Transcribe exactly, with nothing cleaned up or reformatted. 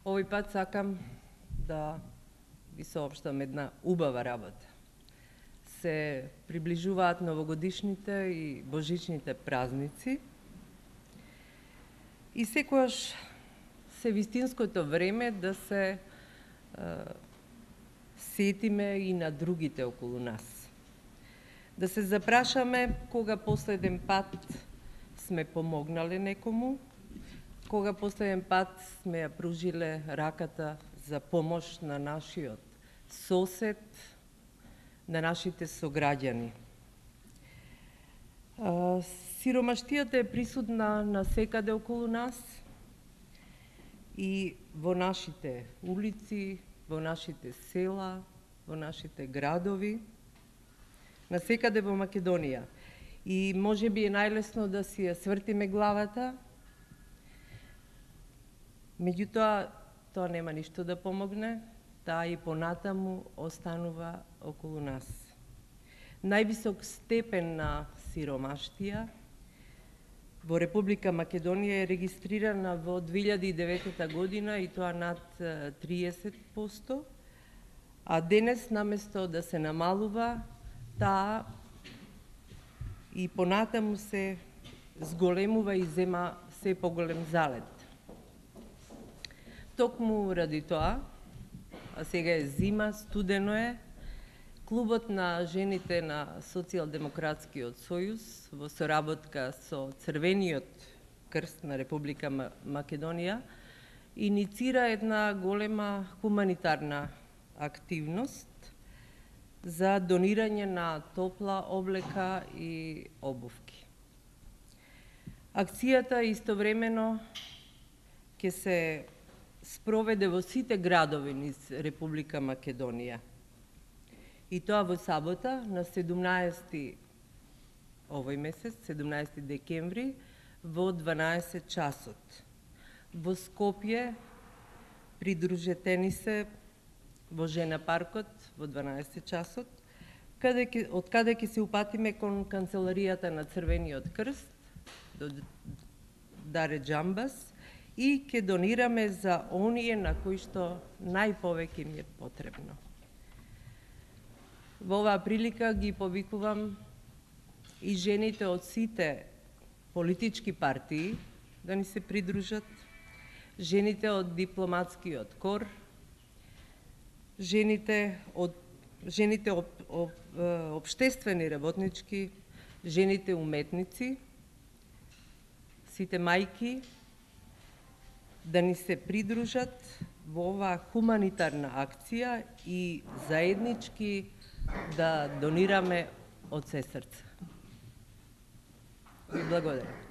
Овој пат сакам да ви соопштам една убава работа. Се приближуваат новогодишните и божичните празници и секогаш се вистинското време да се е, сетиме и на другите околу нас. Да се запрашаме кога последен пат сме помогнале некому, кога последен пат сме ја пружиле раката за помош на нашиот сосед, на нашите сограѓани. Сиромаштијата е присутна насекаде околу нас и во нашите улици, во нашите села, во нашите градови, насекаде во Македонија. И може би е најлесно да си ја свртиме главата, меѓутоа тоа нема ништо да помогне, таа и понатаму останува околу нас. Највисок степен на сиромаштија во Република Македонија е регистрирана во две илјади и деветта година и тоа над триесет проценти, а денес наместо да се намалува, таа и понатаму се зголемува и зема се поголем залет. Токму ради тоа, а сега е зима, студено е, Клубот на жените на Социјалдемократскиот сојуз во соработка со Црвениот крст на Република Македонија иницира една голема хуманитарна активност за донирање на топла облека и обувки. Акцијата истовремено ќе се спроведе во сите градови низ Република Македонија. И тоа во сабота, на седумнаесети овој месец, седумнаесети декември, во дванаесет часот. Во Скопје придружете се во Жена паркот во дванаесет часот, каде ке, од каде ќе се упатиме кон канцеларијата на Црвениот крст, до Даре Џамбас, и ќе донираме за оние на кои што најповеќе им е потребно. Во оваа прилика ги повикувам и жените од сите политички партии да ни се придружат, жените од дипломатскиот кор, жените од жените об, об, обштествени работнички, жените уметници, сите мајки да ни се придружат во оваа хуманитарна акција и заеднички да донираме од се срце. Ви благодарам.